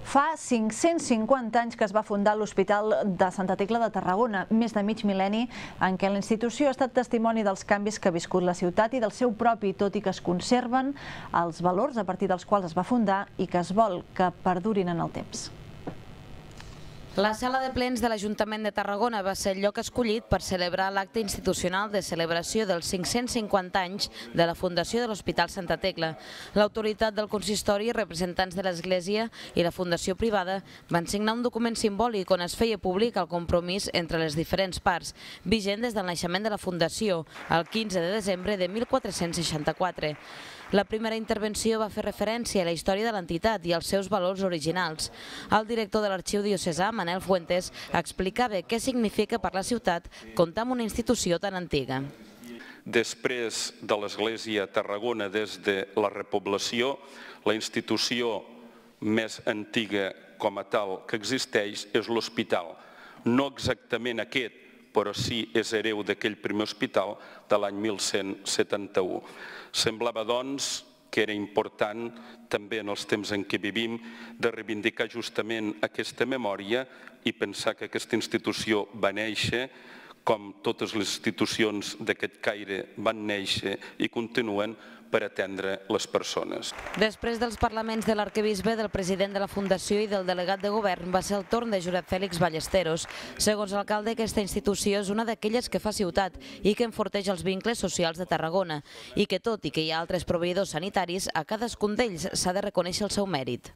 Fa 550 anys que es va fundar l'Hospital de Santa Tecla de Tarragona, més de mig mil·lenni en què la institució ha estat testimoni dels canvis que ha viscut la ciutat i del seu propi, tot i que es conserven els valors a partir dels quals es va fundar i que es vol que perdurin en el temps. La sala de plens de l'Ajuntament de Tarragona va ser el lloc escollit per celebrar l'acte institucional de celebració dels 550 anys de la fundació de l'Hospital Santa Tecla. L'autoritat del consistori, representants de l'Església i la fundació privada van signar un document simbòlic on es feia públic el compromís entre les diferents parts, vigent des del naixement de la fundació, el 15 de desembre de 1464. La primera intervenció va fer referència a la història de l'entitat i als seus valors originals. El director de l'Arxiu Diocesà, Manel Fuentes, explicava què significa per la ciutat comptar amb una institució tan antiga. Després de l'Església a Tarragona, des de la repoblació, la institució més antiga com a tal que existeix és l'hospital. No exactament aquest, però sí és hereu d'aquell primer hospital de l'any 1171. Semblava, doncs, que era important, també en els temps en què vivim, de reivindicar justament aquesta memòria i pensar que aquesta institució va néixer, com totes les institucions d'aquest caire van néixer i continuen per atendre les persones. Després dels parlaments de l'arquebisbe, del president de la Fundació i del delegat de govern, va ser el torn de Josep Fèlix Ballesteros. Segons l'alcalde, aquesta institució és una d'aquelles que fa ciutat i que enforteix els vincles socials de Tarragona i que, tot i que hi ha altres proveïdors sanitaris, a cadascun d'ells s'ha de reconèixer el seu mèrit.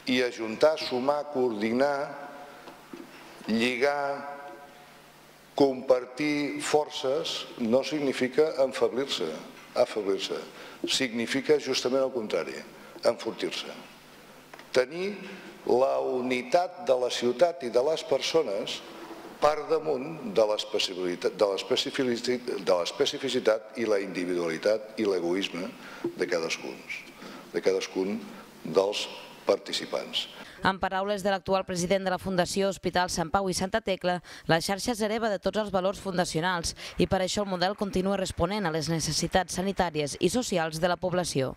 I ajuntar, sumar, coordinar, lligar, compartir forces no significa enfeblir-se, afeblir-se. Significa justament el contrari, enfortir-se. Tenir la unitat de la ciutat i de les persones per damunt de l'especificitat i la individualitat i l'egoisme de cadascun dels participants. En paraules de l'actual president de la Fundació Hospital Sant Pau i Santa Tecla, la xarxa és hereva de tots els valors fundacionals i per això el model continua responent a les necessitats sanitàries i socials de la població.